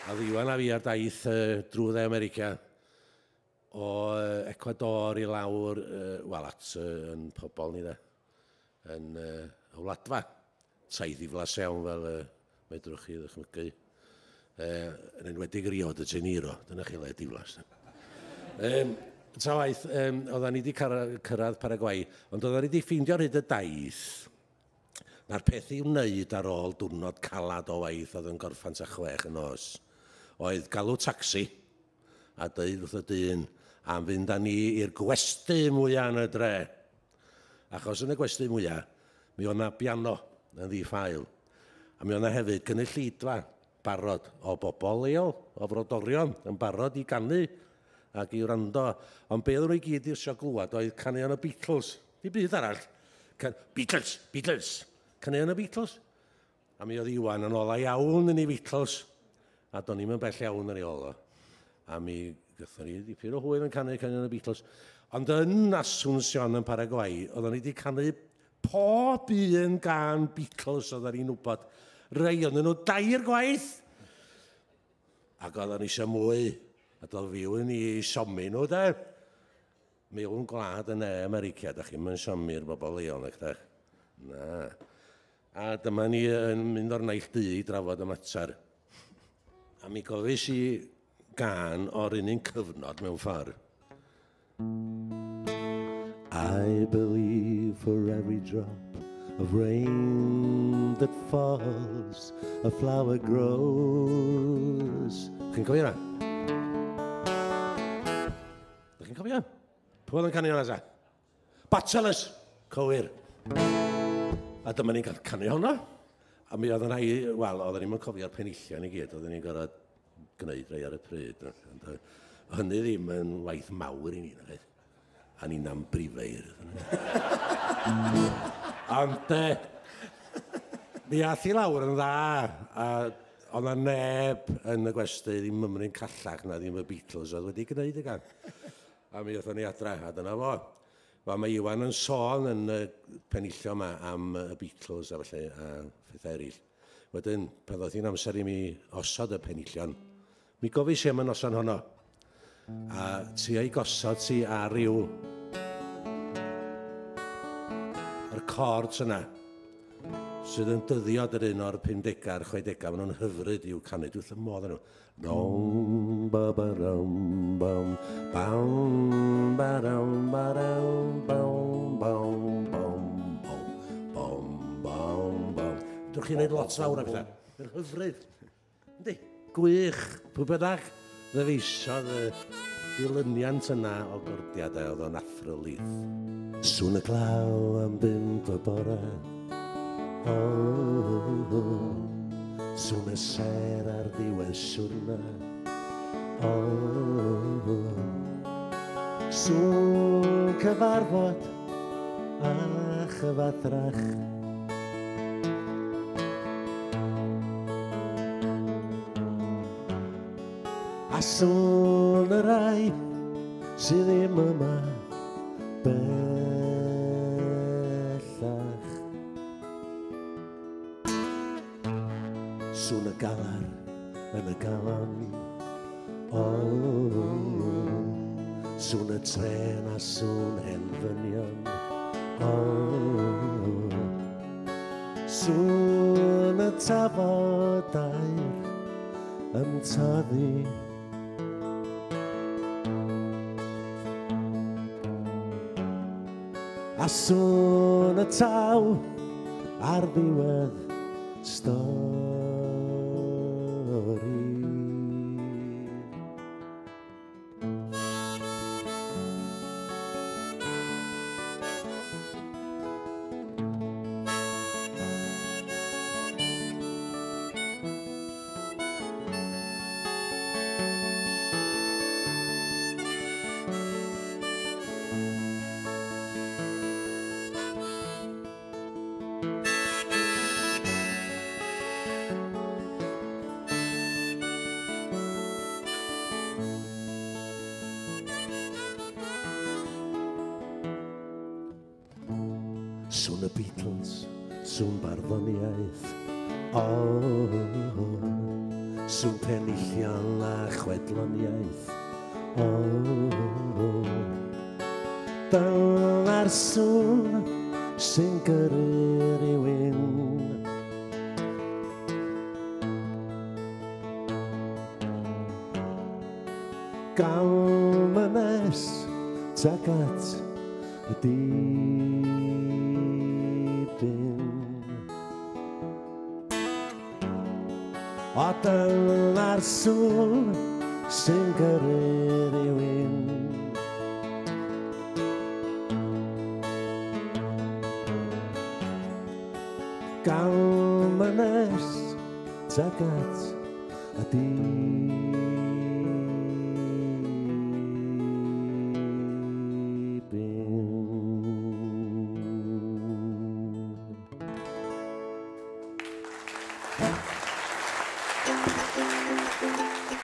A Iwan a fi ar daith drwy dde America o Ecuador i lawr, wel, at yn pobol ni de, yn y Wladfa. Taith ddiflas iawn fel medrwch chi ddychmygu. Yn enwedig Rio de Janeiro, dyna chi le diflas. Ta waith, oeddan ni wedi cyrraedd Paraguay, ond oeddan ni wedi ffeindio ar hyd y daith na'r peth i'w wneud ar ôl diwrnod calad o waith oedd yn gorffan tua 6 y nos, oedd galw tacsi a dweud wrth y dyn am fynd â ni i'r gwesty mwyaf yn y dre. Achos yn y gwesty mwyaf, mi oedd 'na biano yn ddi-ffael. A mi oedd 'na hefyd gynulleidfa barod o bobl leol, o frodorion, yn barod i ganu ac i wrando. Ond be oedden nhw i gyd eisiau glywed oedd caneuon y Beatles. Dim byd arall. Beatles, Beatles. Caneuon y Beatles. A mi oedd Iwan yn ola iawn yn ei Beatles. A do'n i'm yn bell iawn ar ei ôl o. A mi gathon ni dipyn o hwyl yn canu caneuon y Beatles. Ond yn Asunción yn Paraguay, oedden ni wedi canu pob un gan Beatles oedden ni'n wybod. Rei oedden nhw 3 gwaith. Ac oedden ni eisiau mwy. A doedd fyw yn ei siomi nhw, de. Mewn gwlad yn America, da chi'm yn siomi'r bobl leol, nag dach? Na. A dyma ni yn mynd o'r naill dŷ i drafod y mater. A mi gofis i gan o'r un cyfnod mewn ffordd. I believe for every drop of rain that falls, a flower grows. Chi'n cofio hwnna? Dach chi'n cofio? Pwy oedd yn canu hwnna, sa? Bachelors! Cywir. A dyma ni'n cael canu hwnna. A mi oedd yn rhai, wel, oedden ni'm yn cofio'r penillion i gyd, oedden ni'n gorfod gwneud rhai ar y pryd. Ond hynny ddim yn waith mawr i ni, nag oedd? A ni'n ambrifeir. Ond mi ath i lawr yn dda, a oedd 'na neb yn y gwesty ddim mymryn callach na ddim y Beatles oedd wedi gwneud y gan. A mi aethon ni adra, a dyna fo. Wel, mae Iwan yn sôn yn y penillion yma am y Beatles a felly, a phethau eraill. Wedyn, pan ddoth hi'n amser i mi osod y penillion, mi gofis i am y noson honno. A ti ei gosod ti ar ryw yr chords yna, sydd yn dyddio yr un o'r 50au a'r 60au, maen nhw'n hyfryd i'w canu, dwi wrth y modd yn nhw. Dom, ba, ba, dom, bam, bam, ba, dom, ba, dom, bam, bam, bam, bam, bam, bam, bam. Dwch chi'n neud lot fawr o bethau. Mae'n hyfryd. Yndi, gwych. Pwy bynnag ddyfeisiodd y dilyniant yna o gordiadau, oedd o'n athrylith. Sŵn y glaw am 5 y bore. Oh, sŵn y sêr ar ddiwedd siwrna. Oh, sŵn cyfarfod a chyfathrach. A sŵn y rai sydd ddim yma bellach. Sŵn y galar yn y galon. Oh, sŵn y trên a sŵn hen ddynion. Oh, sŵn y tafodau yn toddi. A sŵn y taw ar ddiwedd stori. Sŵn y Beatles, sŵn barddoniaeth. Oh, Sŵn penillion a chwedloniaeth. O, oh, dyna'r sŵn sy'n gyrru rhywun. Gam yn nes tuag at y dibyn. O dyna'r sŵn sy'n gyrru rhywun. Gam yn nes tuag at y dibyn.